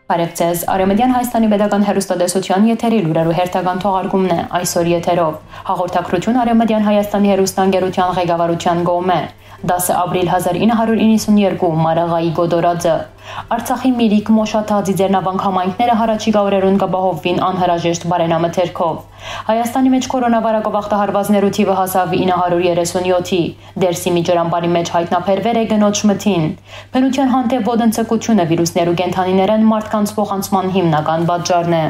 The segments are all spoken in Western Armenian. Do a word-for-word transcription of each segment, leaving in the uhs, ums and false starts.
Բարև ձեզ։ Արեւմտյան Հայաստանի պետական հեռուստատեսության եթերի լուրերու հերթական թողարկումն է այսօր եթերով։ Հաղորդակցութիւն Արեւմտյան Հայաստանի հեռուստաընկերության ղեկավարութեան կողմէ։ Դասը ապրիլ հազար ինը հարիւր իննսուններկու, Մարաղայի կոտորածը։ Արցախի Միրիկ, Մոշաթաղ, Ծիծեռնավանք համայնքները յառաջիկայ օրերուն կ'ապահովուին անհրաժեշտ բարենամթերքով։ Հայաստանի մէջ կորոնավարակով ախտահարուածներու թիւը հասաւ ինը հարիւր երեսունյոթի։ Դերսիմի ջրամբարի մէջ յայտնաբերուեր է կնոջ մթին։ Բնութեան հանդէպ ոտնձգութիւնը վիրուսներու կենդանիներէն մարդկանց փոխանցման հիմնական պատճառն է։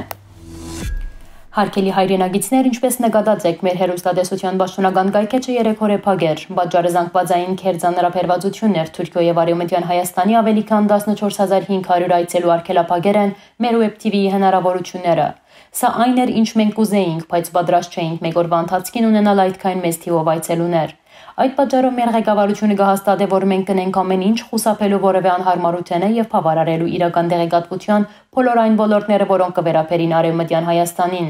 Հարգելի հայրենակիցներ, ինչպէս նկատած էք, մեր հեռուստատեսության պաշտօնական կայքէջը երեկ օրը փակ էր։ Պատճառը զանգուածային կերծանրաբերվածութիւնն էր Թուրքիոյ եւ Արեւմտեան Հայաստանի ավելի քան տասնչորս հազար հինգ հարիւր այցելու արգելափակեր են մեր Web T V-ի հնարաւորութիւնները։ Սա այն էր, ինչ մենք կ'ուզէինք, բայց պատրաստ չէինք մէկ օրուայ ընթացքին ունենալ այդքան մեծ թիւով այցելուներ։ Այդ պատճառով մեր ղեկավարութիւնը կը հաստատէ, որ մենք կ'ընենք ամէն ինչ խուսափելու որեւէ անյարմարութենէ եւ բաւարարելու իրական տեղեկատվութեան բոլոր այն ոլորտները, որոնք կը վերաբերին Արեւմտեան Հայաստանին։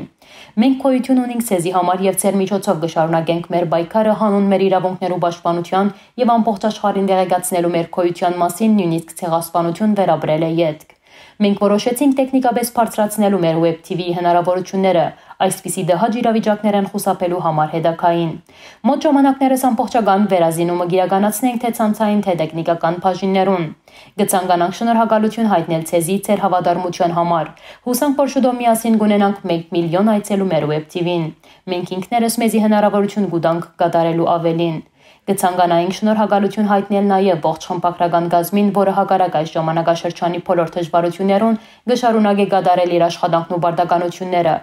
Մենք գոյութիւն ունինք ձեզի համար եւ ձեր միջոցով կը շարունակենք մեր պայքարը յանուն մեր իրաւունքներու պաշտպանութեան եւ ամբողջ աշխարհին տեղեկացնելու մեր գոյութեան մասին, նոյնիսկ ցեղասպանութիւն վերապրելէ ետք։ Մենք որոշեցինք տեխնիկապէս բարձրացնելու մեր Web T V-ի հնարաւորութիւնները, այսպիսի տհաճ իրավիճակներէն խուսափելու համար հետագային։ Մոտ ժամանակներս ամբողջական վերազինումը կ'իրականացնենք թէ ցանցային, թէ տեխնիկական բաժիններուն։ Կը ցանկանանք շնորհակալութիւն յայտնել ձեզի ձեր հաւատարմութեան համար։ Յուսանք, որ շուտով միասին կ'ունենանք մէկ միլիոն այցելու մեր Web T V-ին։ Մենք ինքներս մեզի հնարաւորութիւն կու տանք կատարելու աւելին։ Կը ցանկանայինք շնորհակալութիւն յայտնել նաեւ ողջ խմբագրական կազմին, որը հակառակ այս ժամանակաշրջանի բոլոր դժվարութիւններուն կը շարունակէ կատարել իր աշխատանքն ու պարտականութիւնները։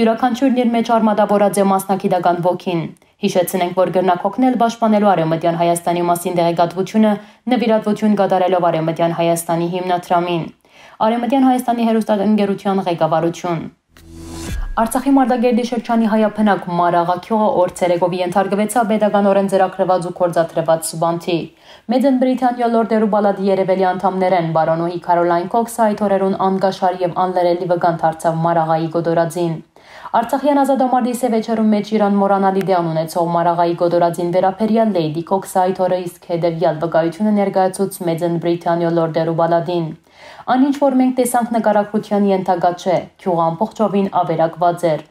Իւրաքանչիւրն իր մէջ արմատավորած է մասնագիտական ոգին։ Յիշեցնենք, որ կրնաք օգնել պաշտպանելու Արեւմտեան Հայաստանի մասին տեղեկատվութիւնը, նուիրատվութիւն կատարելով Արեւմտեան Հայաստանի հիմնադրամին։ Արեւմտեան Հայաստանի հեռուստաընկերութեան ղեկավարութիւն։ Արցախի Մարտակերտի շրջանի հայաբնակ Մարաղա գիւղը օրցերեկով ենթարկուեցաւ պետականօրէն ծրագրուած ու գործադրուած սուբանթի։ Մեծն Բրիտանիոյ լորդերու պալատի երեւելի անդամներէն պարոնոյի Քարոլայն Քոքսը այդ օրերուն անկաշար եւ անլրելի վկան դարձաւ Մարաղայի կոտորածին։ Արցախեան ազատամարտի սեւեջերու մէջ իր անմոռանալի տեղն ունեցող Մարաղայի կոտորածին վերաբերեալ Լեյդի Քոքսը այդ օրը իսկ հետեւեալ վկայութիւնը ներկայացուց Մեծն Բրիտանիոյ լորդերու պալատին։ Այն ինչ որ մենք տեսանք նկարագրութեան ենթակայ չէ, գիւղը ամբողջովին ավերակուած էր։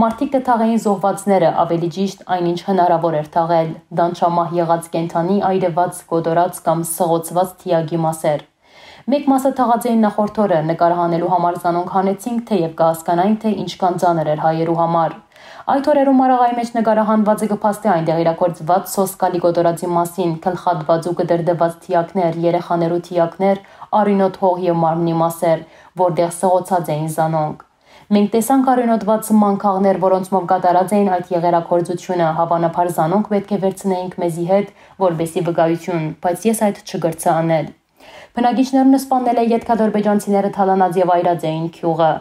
Մարդիկ կը թաղէին զոհուածները, ավելի ճիշտ այն ինչ հնարաւոր էր թաղել, տանջամահ եղած կենդանի, այրուած, կոտորած կամ սղոցուած դիակի մասեր։ Մէկ մասը թաղած էին նախորդ օրը, նկարահանելու համար զանոնք հանեցինք, թէեւ կը հասկանայինք, թէ ինչքան ծանր էր հայերու համար։ Այդ օրերու Մարաղայի մէջ նկարահանուածը կը փաստէ այնտեղ իրագործուած սոսկալի կոտորածի մասին, գլխատուած ու կտրտուած դիակներ, երեխաներու դիակներ, արիւնոտ հող եւ մարմնի մասեր, որտեղ սղոցած էին զանոնք։ Մենք տեսանք արիւնոտուած մանկաղներ, որոնցմով կատարած էին այդ եղերագործութիւնը, հաւանաբար զանոնք պէտք է վերցնէինք մեզի հետ, որպեսզի վկայութիւն, բայց ես այդ չկրցայ անել։ Բնակիչներուն սպաննելէ ետք ադրբեջանցիները թալանած եւ այրած էին գիւղը։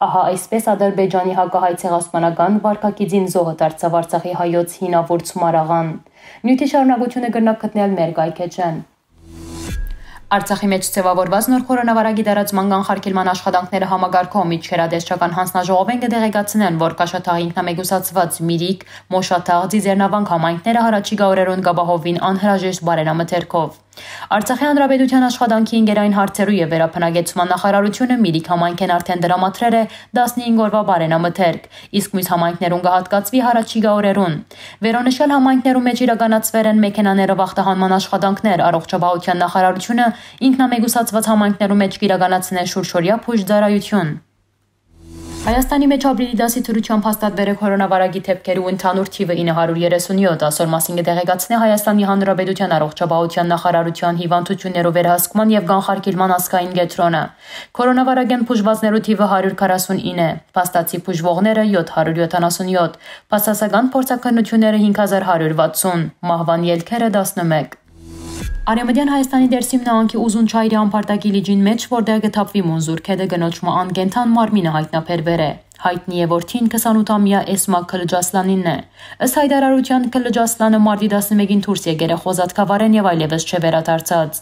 Ահա այսպէս Ադրբեջանի հակահայ ցեղասպանական վարքագիծին զոհը դարձաւ Արցախի հայոց հինավուրց Մարաղան։ Նիւթի շարունակութիւնը կրնաք գտնել մեր կայքէջէն։ Արցախի մէջ ձեւաւորուած նոր կորոնավարակի տարածման կանխարգելման աշխատանքները համակարգող միջկերատեսչական յանձնաժողովէն կը տեղեկացնեն, որ Կաշաթաղ ինքնամեկուսացուած Միրիկ, Մոշաթաղ, Ծիծեռնավանք համայնքները յառաջիկայ օրերուն կ'ապահովուին անհրաժեշտ բարենամթերքով։ Արցախի Հանրապետության աշխատանքի, ընկերային հարցերու եւ վերաբնակեցման նախարարութիւնը Միրիկ համայնքէն արդէն տրամադրեր է տասնհինգ օրուայ բարենամթերք, իսկ միւս համայնքներուն կը հատկացուի յառաջիկայ օրերուն։ Վերոնշյալ համայնքներու մէջ իրականացուեր են մեքենաներով ախտահանման աշխատանքներ, առողջապահության նախարարութիւնը ինքնամեկուսացուած համայնքներու մէջ կ'իրականացնէ շուրջօրեայ բուժծառայութիւն։ Հայաստանի մէջ ապրիլի տասի դրութեամբ հաստատուեր է կորոնավարակի դէպքերու ընդհանուր թիւը ինը հարիւր երեսունյոթ, ասոր մասին կը տեղեկացնէ Հայաստանի Հանրապետության առողջապահության նախարարության հիւանդութիւններու վերահսկման եւ կանխարգելման ազգային կեդրոնը։ Կորոնավարակէն բուժուածներու թիւը հարիւր քառասունինը է, փաստացի բուժուողները՝ յոթ հարիւր յոթանասունյոթ, բացասական փորձաքննութիւնները՝ հինգ հազար հարիւր վաթսուն, մահուան ելքերը՝ տասնմէկ։ Արեւմտեան Հայաստանի Դերսիմ նահանգի Ուզունչայրի ամբարտակի լիճին մէջ, որտեղ կը թափուի Մունզուր գետը, կնոջ մը անկենդան մարմինը յայտնաբերուեր է։ Յայտնի է, որ թին քսանութամեայ Էսմա Քլջասլանինն է։ Ըստ յայտարարութեան, Քլջասլանը մարտի տասնմէկին դուրս եկեր է խոզատկավարէն եւ այլեւս չէ վերադարձած։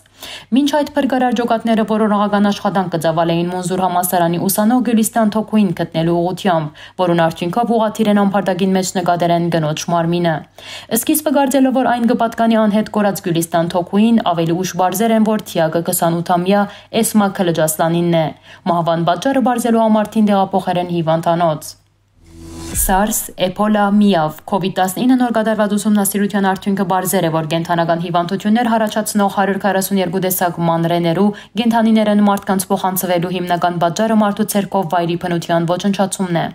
Մինչ այդ, փրկարար ջոկատները որոնողական աշխատանք կը ծաւալէին Մունզուր համալսարանի ուսանող Գիւլիստան Թոքուին գտնելու ուղղութեամբ, որուն արդիւնքով ուղղաթիռ են ամբարտակին մէջ նկատեր են կնոջ մարմինը։ Սկիզբը կարծելով, որ այն կը պատկանի անհետ կորած Գիւլիստան Թոքուին, ավելի ուշ պարզեր են, որ թիակը քսանութամեայ Էսմա Քլըջասլանինն է։ Մահուան պատճառը պարզելու համար թին տեղափոխեր են հիվանդանոց։ սարս, էբոլա, միաւ, քովիդ տասնինը նոր կատարուած ուսումնասիրութեան արդիւնքը պարզեր է, որ կենդանական հիվանդութիւններ յառաջացնող հարիւր քառասուն երկու տեսակ մանրէներու կենդանիներէն մարդկանց փոխանցուելու հիմնական պատճառը մարդու ձեռքով վայրի բնութեան ոչնչացումն է։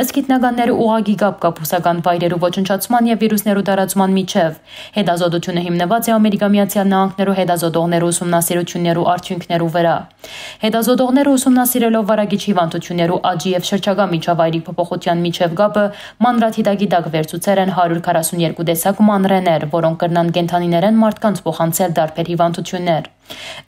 Ըստ գիտնականներու, ուղղակի կապ կայ բուսական վայրերու ոչնչացման եւ վիրուսներու տարածման միջեւ։ Հետազոտութիւնը հիմնուած է Ամերիկա Միացյալ Նահանգներու հետազոտողներու ուսումնասիրութիւններու արդիւնքներու վրայ։ Հետազոտողները ուսումնասիրելով վարակիչ հիվանդութիւններու աճի եւ շրջակայ միջավայրի փոփոխութեան միջեւ կապը, մանրադիտակի տակ վերցուցեր են հարիւր քառասուն երկու տեսակ մանրէներ, որոնք կրնան կենդանիներէն մարդկանց փոխանցել տարբեր հիվանդութիւններ։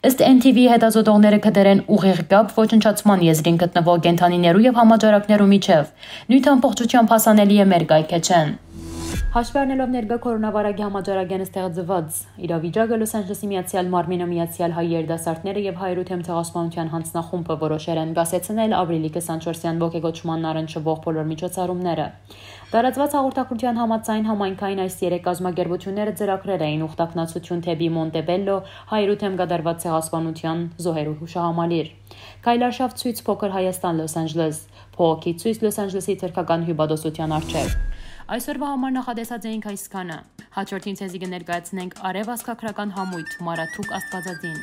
Ըստ N T V-ի, հետազոտողները գտեր են ուղիղ կապ ոչնչացման եզրին գտնուող կենդանիներու եւ համաճարակներու միջեւ։ Նիւթը ամբողջութեամբ հասանելի է մեր կայքէջէն։ Հաշվի առնելով ներկայ կորոնավարակի համաճարակէն ստեղծուած իրավիճակը, Լոս Անջելեսի Միացեալ Մարմինը Միացեալ Հայ երիտասարդները եւ Հայերու դէմ ցեղասպանութեան յանձնախումբը որոշեր են կասեցնել ապրիլի քսանչորսեան ոգեկոչման առնչուող բոլոր միջոցառումները։ Տարածուած հաղորդագրութեան համաձայն, համայնքային այս երեք կազմակերպութիւնները ծրագրեր էին ուխտագնացութիւն դէպի Մոնտեբելլո Հայերու դէմ կատարուած ցեղասպանութեան զոհերու յուշահամալիր։ Քայլարշաւ ցոյց Փոքր Հայաստան Լոս Անջելես, բողոքի ցոյց Լոս Անջելեսի թրքական հիւպատոսութեան առջեւ։ Այսօրվա համար նախատեսած էինք այսքանը։ Հաջորդին ձեզի կը ներկայացնենք արեւ ազգագրական համոյթ՝ Մարաթուք Աստուածածին։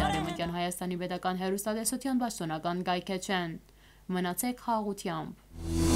Արեւմտյան Հայաստանի պետական հեռուստատեսության պաշտօնական կայքէջէն։ Մնացեք խաղաղութեամբ։